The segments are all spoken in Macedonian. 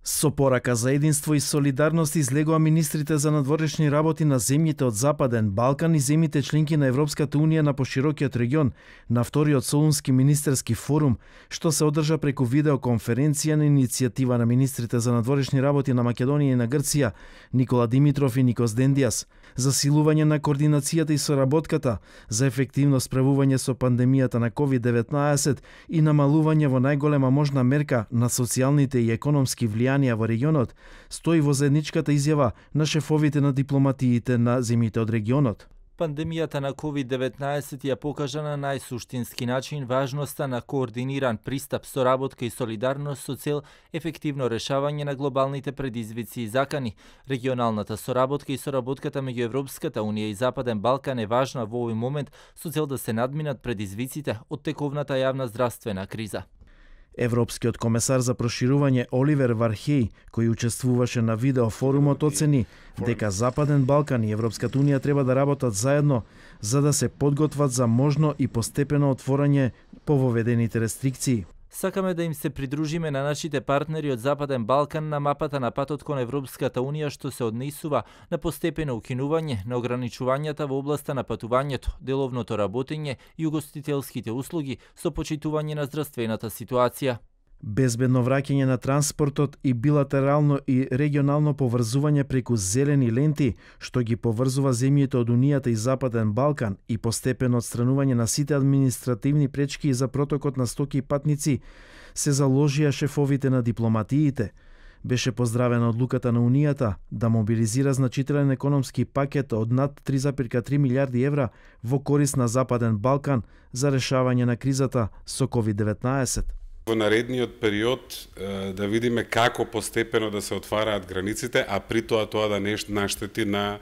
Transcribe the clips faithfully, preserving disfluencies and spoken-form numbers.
Со порака за единство и солидарност излегоа министрите за надворешни работи на земјите од Западен Балкан и земјите членки на Европската унија на поширокиот регион на вториот Солунски министерски форум, што се одржа преку видеоконференција на иницијатива на министрите за надворешни работи на Македонија и на Грција, Никола Димитров и Никос Дендијас, засилување на координацијата и соработката за ефективно справување со пандемијата на ковид деветнаесет и намалување во најголема можна мерка на социјалните и економски влијанија во регионот, стои во заедничката изјава на шефовите на дипломатиите на земјите од регионот. Пандемијата на ковид деветнаесет ја покажа на најсуштински начин важноста на координиран пристап, соработка и солидарност со цел ефективно решавање на глобалните предизвици и закани. Регионалната соработка и соработката меѓу Европската унија и Западен Балкан е важна во овој момент со цел да се надминат предизвиците од тековната јавна здравствена криза. Европскиот комесар за проширување Оливер Вархеј, кој учествуваше на видеофорумот, оцени дека Западен Балкан и Европската унија треба да работат заедно за да се подготват за можно и постепено отворање по воведените рестрикции. Сакаме да им се придружиме на нашите партнери од Западен Балкан на мапата на патот кон Европската унија, што се однесува на постепено укинување на ограничувањата во областа на патувањето, деловното работење и угостителските услуги со почитување на здравствената ситуација. Безбедно враќање на транспортот и билатерално и регионално поврзување преку зелени ленти, што ги поврзува земјите од Унијата и Западен Балкан и постепено отстранување на сите административни пречки за протокот на стоки и патници, се заложија шефовите на дипломатиите. Беше поздравена одлуката на Унијата да мобилизира значителен економски пакет од над три зарез и три милијарди евра во корист на Западен Балкан за решавање на кризата со ковид деветнаесет. Во наредниот период да видиме како постепено да се отвараат границите, а при тоа тоа да не наштети на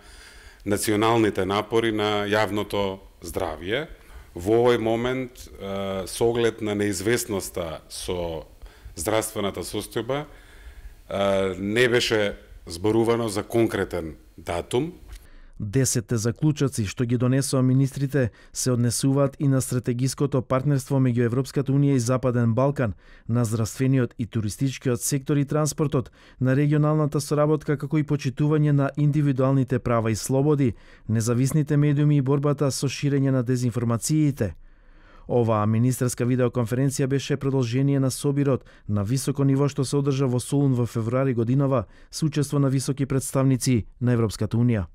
националните напори на јавното здравје. Во овој момент, со оглед на неизвестноста со здравствената состојба, не беше зборувано за конкретен датум. Десетте заклучоци што ги донесоа министрите се однесуваат и на стратегиското партнерство меѓу Европската унија и Западен Балкан, на здравствениот и туристичкиот сектор и транспортот, на регионалната соработка како и почитување на индивидуалните права и слободи, независните медиуми и борбата со ширење на дезинформациите. Оваа министерска видеоконференција беше продолжение на собирот на високо ниво што се одржа во Солун во февруари годинава со учество на високи представници на Европската унија.